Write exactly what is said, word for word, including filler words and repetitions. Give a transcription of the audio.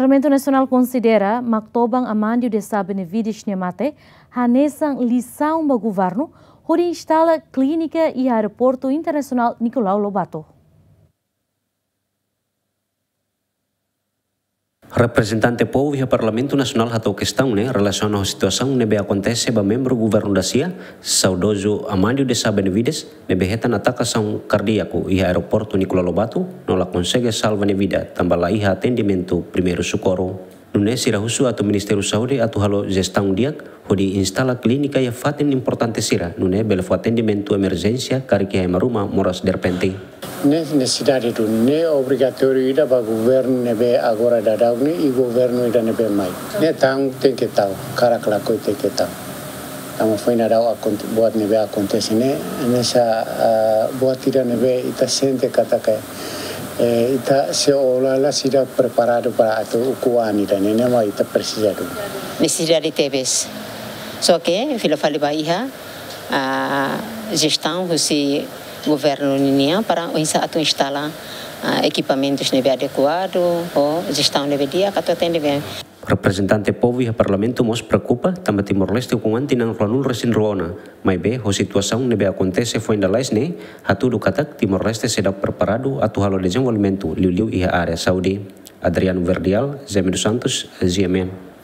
Parlamentu Nasionál konsidera Maktoban Amandio de Sá Benevides nia mate hanesan lisaun ba governu hodi instala klínika iha Aeroportu Internasionál Nicolau Lobato. Reprezentante povu iha Parlamentu Nasionál hato'o kestaun ne'e relasiona ho situasaun ne'ebé akontese ba membru governu dasia, saudozu Amandio de Sá Benevides, ne'ebé hetan atakasaun kardíaku iha Aeroportu Nicolau Lobato, no la konsege salva nia vida, tanba la iha atendimentu primeiru sokorru. Nune'e sira husu atu Ministériu Saúde atu halo jestaun di'ak, hodi instala klínika iha fatin importante sira, nune'e bele fó atendimentu emerjénsia karik iha ema ruma moras derrepente. Ne'e nesesidade duni, ne'e obrigatóriu ida ba governu ne'ebé agora daudaun ne'e i governu ida ne'ebé mai. Ne'e tau tenke tau, hakarak lakohi tenke tau. Tanba foin daudaun akonte-, buat ne'ebé akontese ne'e, hanesan, ah, buat ida ne'ebé ita sente katak, eh, ita sei ola la seidauk preparadu para atu ukun an ida-ne'e, ne'e mak ita presiza duni. Nesesidade tebes. Só ke fila fali ba iha, ah, jestaun husi governu ninian para oinsá atu instala, ah, ekipamentus ne'ebé adekuadu, ho jestaun ne'ebé di'ak atu atende bem. Reprezentante povu iha Parlamentu mós preokupa tanba Timor-Leste ukun an tinan ruanulu resin rua ona, maibé ho situasaun ne'ebé akontese foin lalais ne'e, hatudu katak Timor-Leste seidauk preparadu atu halo dezenvolvimentu liuliu iha área saúde. Adriano Verdial, Zeme dos Santos, G M N.